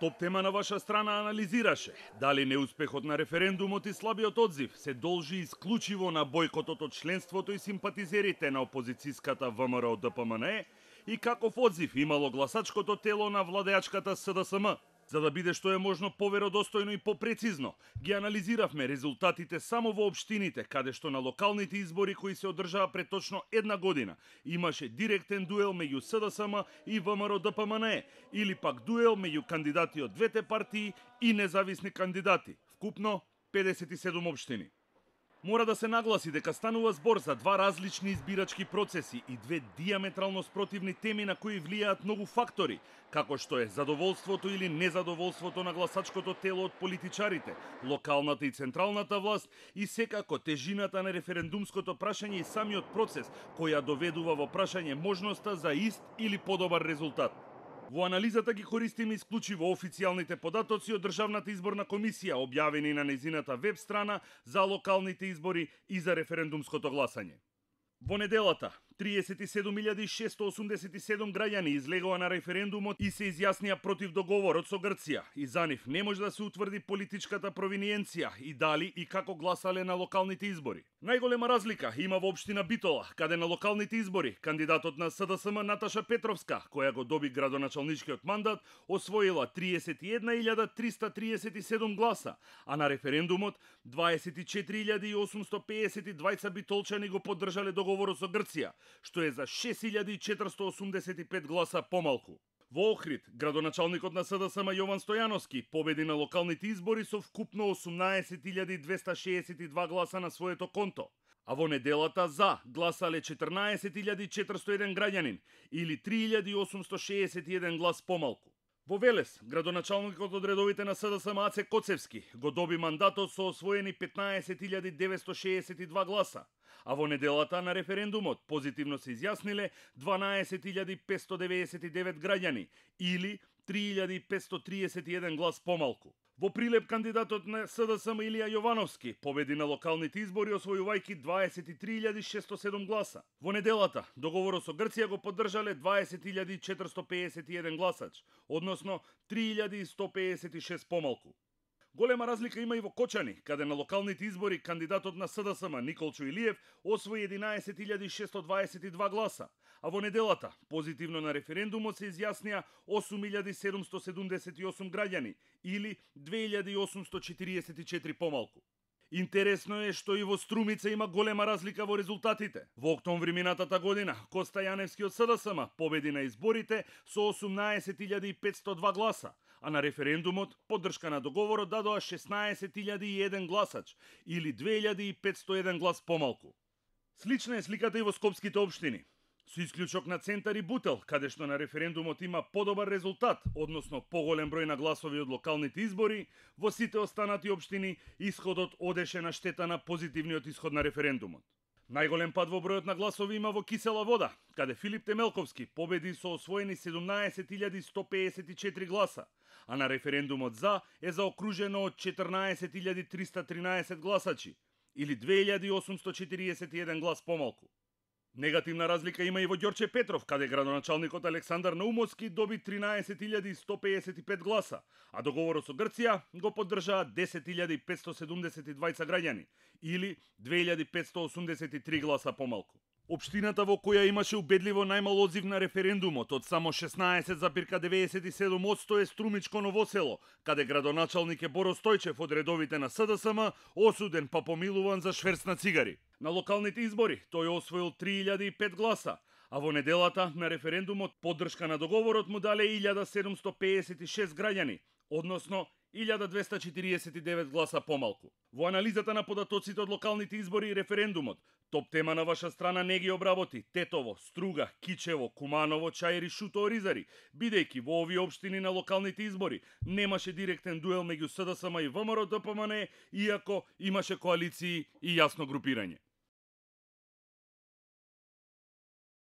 Топ тема на ваша страна анализираше дали неуспехот на референдумот и слабиот одзив се должи исклучиво на бојкотот од членството и симпатизерите на опозицијската ВМРО ДПМНЕ и каков одзив имало гласачкото тело на владеачката СДСМ. За да биде што е можно поверодостојно и попрецизно, ги анализиравме резултатите само во општините, каде што на локалните избори кои се одржаа пред точно една година имаше директен дуел меѓу СДСМ и ВМРО ДПМНЕ, или пак дуел меѓу кандидати од двете партии и независни кандидати, вкупно 57 општини. Мора да се нагласи дека станува збор за два различни избирачки процеси и две диаметрално спротивни теми на кои влијаат многу фактори, како што е задоволството или незадоволството на гласачкото тело од политичарите, локалната и централната власт и секако тежината на референдумското прашање и самиот процес која доведува во прашање можноста за ист или подобар резултат. Во анализата ги користиме исклучиво официјалните податоци од Државната изборна комисија, објавени на нејзината веб страна за локалните избори и за референдумското гласање. Во неделата, 37.687 граѓани излегоа на референдумот и се изјаснија против договорот со Грција, и за нив не може да се утврди политичката провиниенција и дали и како гласале на локалните избори. Најголема разлика има во општина Битола, каде на локалните избори кандидатот на СДСМ Наташа Петровска, која го доби градоначалничкиот мандат, освоила 31.337 гласа, а на референдумот 24.852 битолчани го поддржале договорот со Грција, што е за 6.485 гласа помалку. Во Охрид, градоначалникот на СДСМ Јован Стојановски победи на локалните избори со вкупно 18.262 гласа на своето конто, а во неделата за гласале 14.401 граѓанин или 3.861 глас помалку. Во Велес, градоначалникот од редовите на СДСМ Аце Коцевски го доби мандатот со освоени 15.962 гласа, а во неделата на референдумот позитивно се изјасниле 12.599 граѓани или 3.531 глас помалку. Во Прилеп кандидатот на СДСМ Илија Јовановски победи на локалните избори освојувајќи 23.607 гласа. Во неделата договорот со Грција го поддржале 20.451 гласач, односно 3.156 помалку. Голема разлика има и во Кочани, каде на локалните избори кандидатот на СДСМ Николчо Илиев освои 11.622 гласа, а во неделата позитивно на референдумот се изјаснија 8.778 граѓани или 2.844 помалку. Интересно е што и во Струмица има голема разлика во резултатите. Во октомври минатата година Коста Јаневски од СДСМ победи на изборите со 18.502 гласа, а на референдумот поддршка на договорот дадоа 16.001 гласач или 2.501 глас помалку. Слична е сликата и во скопските општини. Со исклучок на Центар и Бутел, каде што на референдумот има подобар резултат, односно поголем број на гласови од локалните избори, во сите останати општини исходот одеше на штета на позитивниот исход на референдумот. Најголем пад во бројот на гласови има во Кисела Вода, каде Филип Темелковски победи со освоени 17.154 гласа, а на референдумот за е заокружено од 14.313 гласачи, или 2.841 глас помалку. Негативна разлика има и во Ѓорче Петров, каде градоначалникот Александар Наумовски доби 13.155 гласа, а договорот со Грција го поддржаа 10.572 граѓани, или 2.583 гласа помалку. Општината во која имаше убедливо најмал одзив на референдумот од само 16,97% е Струмичко Новосело, каде градоначалник е Боро Стојчев од редовите на СДСМ, осуден па помилуван за шверц на цигари. На локалните избори тој освоил 3.005 гласа, а во неделата на референдумот поддршка на договорот му дале 1.756 граѓани, односно 1.249 гласа помалку. Во анализата на податоците од локалните избори и референдумот, топ тема на ваша страна не ги обработи Тетово, Струга, Кичево, Куманово, Чаир и Шуто Оризари, бидејќи во овие општини на локалните избори немаше директен дуел меѓу СДСМ и ВМРО ДПМНЕ, иако имаше коалиции и јасно групирање.